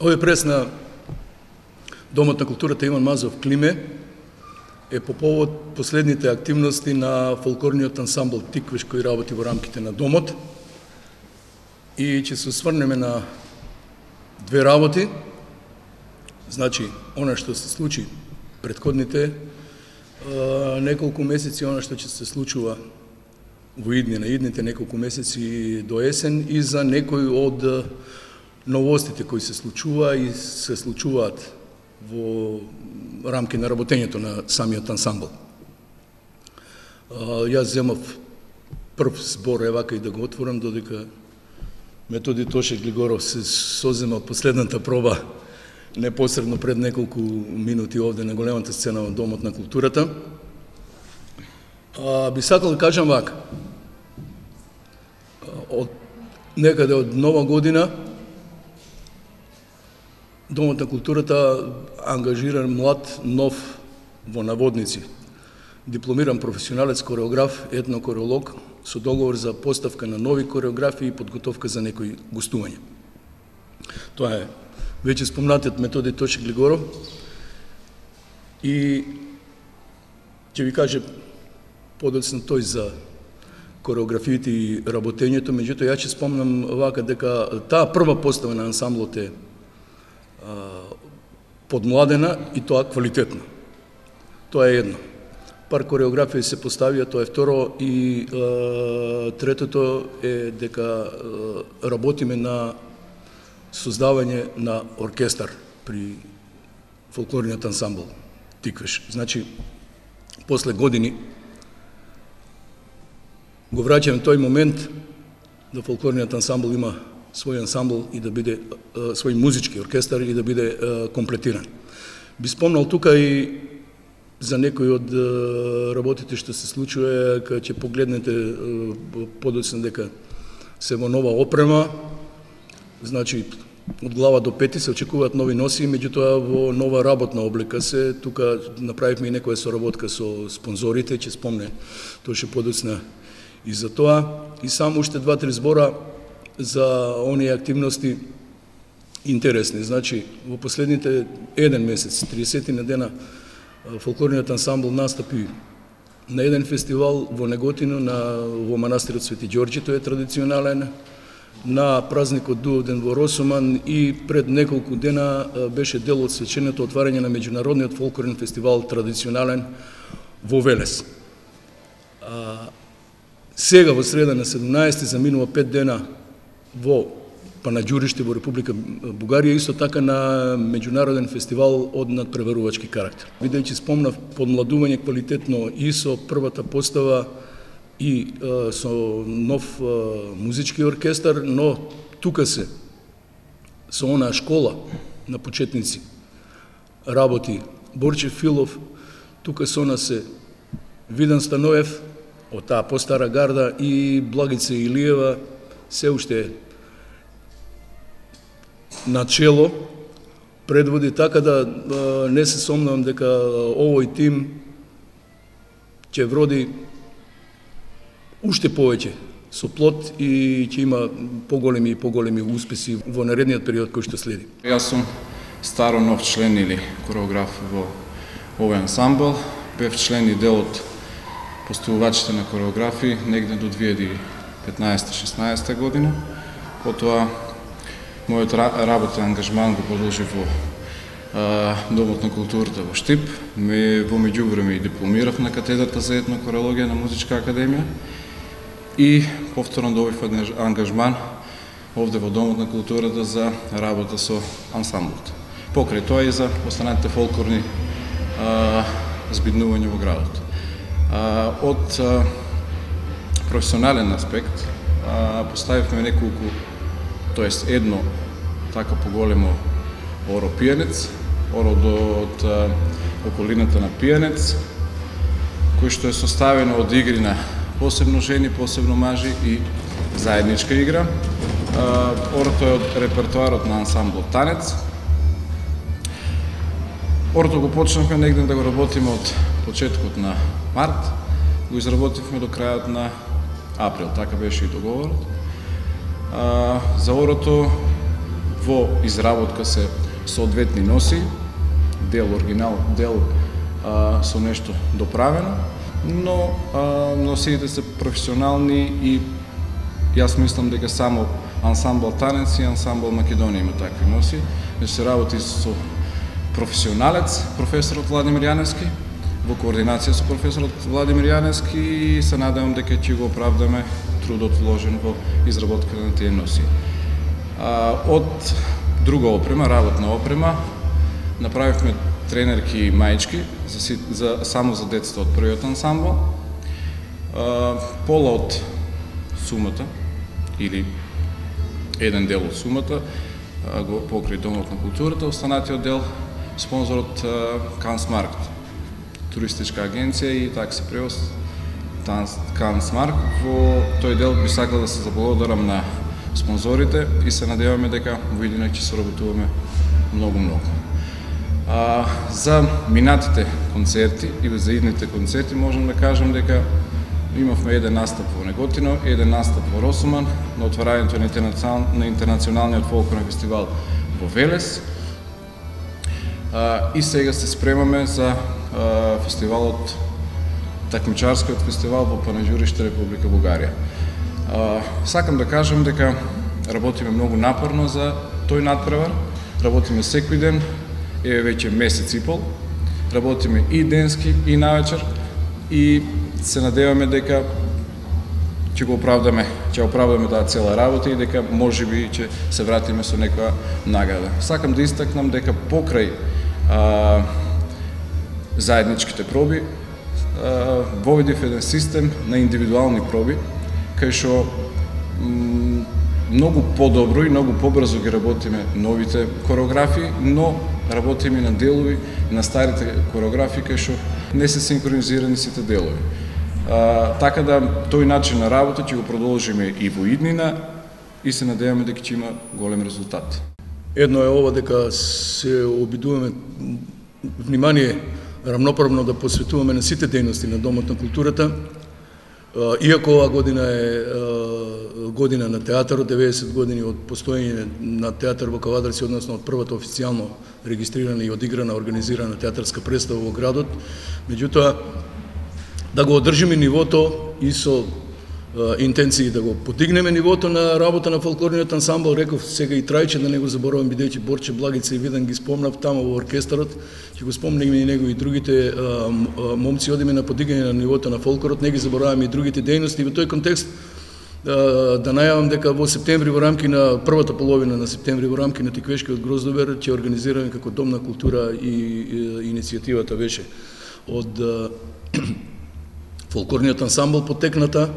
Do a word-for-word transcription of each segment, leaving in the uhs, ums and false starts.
Овој прес на Домот на културата Иван Мазов Климе е по повод последните активности на фолклорниот ансамбл Тиквиш кој работи во рамките на Домот и ќе се осврнеме на две работи. Значи, она што се случи претходните неколку месеци, она што ќе се случува во идни на идните неколку месеци до есен и за некои од новостите кои се случува и се случуваат во рамки на работењето на самиот ансамбл. Јас земав прв збор, евака и да го отворам, додека Методи Тоше Глигоров се созема од последната проба непосредно пред неколку минути овде на големата сцена во Домот на културата. А, би сакал да кажам вака. Од некаде од нова година Домот на културата ангажира млад, нов, во наводници, дипломиран професионалец, кореограф, етнокореолог, со договор за поставка на нови кореографии и подготовка за некои гостувања. Тоа е веќе спомнатиот Методи Тоше Глигоров и ќе ви каже подоцна тој за кореографиите и работењето, меѓутоа ја ќе спомнам вака дека таа прва постава на ансамблот е подмладена и тоа квалитетно. Тоа е едно. Пар кореографија се поставија, тоа е второ и е, третото е дека е, работиме на создавање на оркестар при фолклорниот ансамбл Тиквиш. Значи, после години го враќаме тој момент да фолклорниот ансамбл има свој ансамбл и да биде свој музички оркестар и да биде комплетиран. Би спомнал тука и за некои од работите што се случува, кога ќе погледнете подоцна дека се во нова опрема, значи од глава до пети се очекуваат нови носи, меѓутоа во нова работна облика се, тука направивме и некоја соработка со спонзорите, ќе спомне Тоше подоцна и за тоа, и само уште два-три збора за оние активности интересни. Значи, во последните еден месец, триесет на дена, фолклорниот ансамбл настапи на еден фестивал во Неготино, на, во манастирот Свети Ѓорѓи, тој е традиционален, на празникот Дуовден во Росуман и пред неколку дена беше дел од свеченото отварање на меѓународниот фолклорен фестивал традиционален во Велес. Сега во среда на седумнаесети заминува пет дена во Панаѓуриште во Република Бугарија, исто така на меѓународен фестивал од надпреварувачки карактер. Бидејќи спомнав подмладување квалитетно и со првата постава и е, со нов е, музички оркестар, но тука се со онаа школа на почетници работи Борче Филов, тука со нас се Видан Становев од таа постара гарда и Благица Илиева, се уште начело предводи, така да не се сомнувам дека овој тим ќе вроди уште повеќе со плод и ќе има поголеми и поголеми успеси во наредниот период кој што следи. Јас сум старо нов член или кореограф во овој ансамбл. Бев член и дел од поставувачите на кореографии негде до две илјади и петнаесета-шеснаесета година. Потоа мојот работа и ангажман го продолжи во а, Домот на културата во Штип. Ме во меѓувреме и дипломирав на катедрата за етно корологија на Музичка академија и повторно добив ангажман овде во Домот на културата за работа со ансамблот. Покрај тоа и за останатите фолклорни а, збиднувања во градот. А, од а, професионален аспект а, поставивме неколку, тоест едно така поголемо оро пијанец, оро од а, околината на пијанец, кој што е составено од игри на посебно жени, посебно мажи и заедничка игра. А, орото е од репертоарот на ансамблот Танец. Орото го почнавме негде да го работиме од почеткот на март, го изработивме до крајот на април, така беше и договорот. А, за орото во изработка се соодветни носи, дел оригинал, дел а, со нешто доправено, но а, носиите се професионални и јас мислам дека само ансамбл Танец и ансамбл Македонија има такви носи. Ме се работи со професионалец, професорот Владимир Јаневски, во координација со професорот Владимир Јаневски, и се надевам дека ќе го оправдаме трудот вложен во изработка на тие носи. А, од друга опрема, работна опрема, направивме тренерки и маички за, за, само за децата од првиот ансамбл. А, пола од сумата, или еден дел од сумата, а, го покрај Домот на културата, останатиот дел спонзорот Кансмаркт, туристичка агенција и такси превоз Кансмарк. Во тој дел би сакал да се заблагодарам на спонзорите и се надеваме дека во иднина ќе соработуваме многу-многу. А, за минатите концерти и за идните концерти можам да кажам дека имавме еден настап во Неготино, еден настап во Росуман, на отварањето на интернационалниот фолклорен фестивал во Велес. А, и сега се спремаме за а, фестивалот, такмичарскиот фестивал во Панаѓуриште, Република Бугарија. А, сакам да кажам дека работиме многу напорно за тој надпревар, работиме секој ден, еве веќе месец и пол, работиме и денски и навечер и се надеваме дека ќе го оправдаме, ќе оправдаме таа цела работа и дека можеби ќе се вратиме со некоја награда. Сакам да истакнам дека покрај а, заедничките проби а, воведив еден систем на индивидуални проби, кај што многу подобро и многу побрзо ги работиме новите кореографии, но работиме на делови на старите кореографии кај што не се синхронизирани сите делови. А, така да тој начин на работа ќе го продолжиме и во иднина и се надеваме дека ќе има голем резултат. Едно е ова дека се обидуваме внимание рамноправно да посветуваме на сите дејности на Домот на културата. Иако оваа година е година на театарот, деветдесет години од постоење на театар во Кавадарци, односно од првата официјално регистрирана и одиграна организирана театарска представа во градот, меѓутоа да го одржиме нивото и со интенции да го подигнеме нивото на работа на фолклорниот ансамбл. Реков сега и Трајче, да не го заборавам, бидејќи Борче, Благица и Видан ги спомнав тамо во оркестарот, ќе го спомнеме и него и другите а, а, момци, одиме на подигање на нивото на фолклорот, не ги забораваме и другите дејности. Во тој контекст а, да најавам дека во септември во рамки на првата половина на септември во рамки на Тиквешкиот Гроздобер ќе организираме како Дом на култура и, и иницијативата беше од а, фолклорниот ансамбл потекната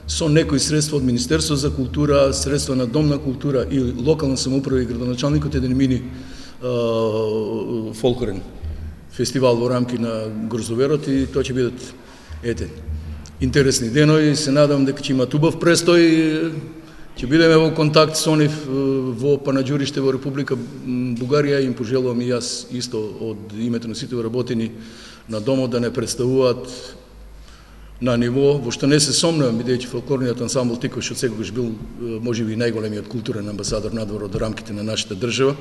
со некои средства од Министерство за култура, средства на Дом на култура и локална самоуправа и градоначалникот еден мини а, фолклорен фестивал во рамки на Гроздоверот и тоа ќе бидат ете интересни денови. Се надам дека ќе имат убав престој. Ќе бидеме во контакт со нив во Панаџуриште во Република Бугарија. Им пожелувам и јас исто од името на сите вработени на домот да не представуваат на ниво во што не се сомневам, бидејќи фолклорниот ансамбл Тиквеш од секогаш бил можеби најголемиот културен амбасадор надвор од рамките на нашата држава.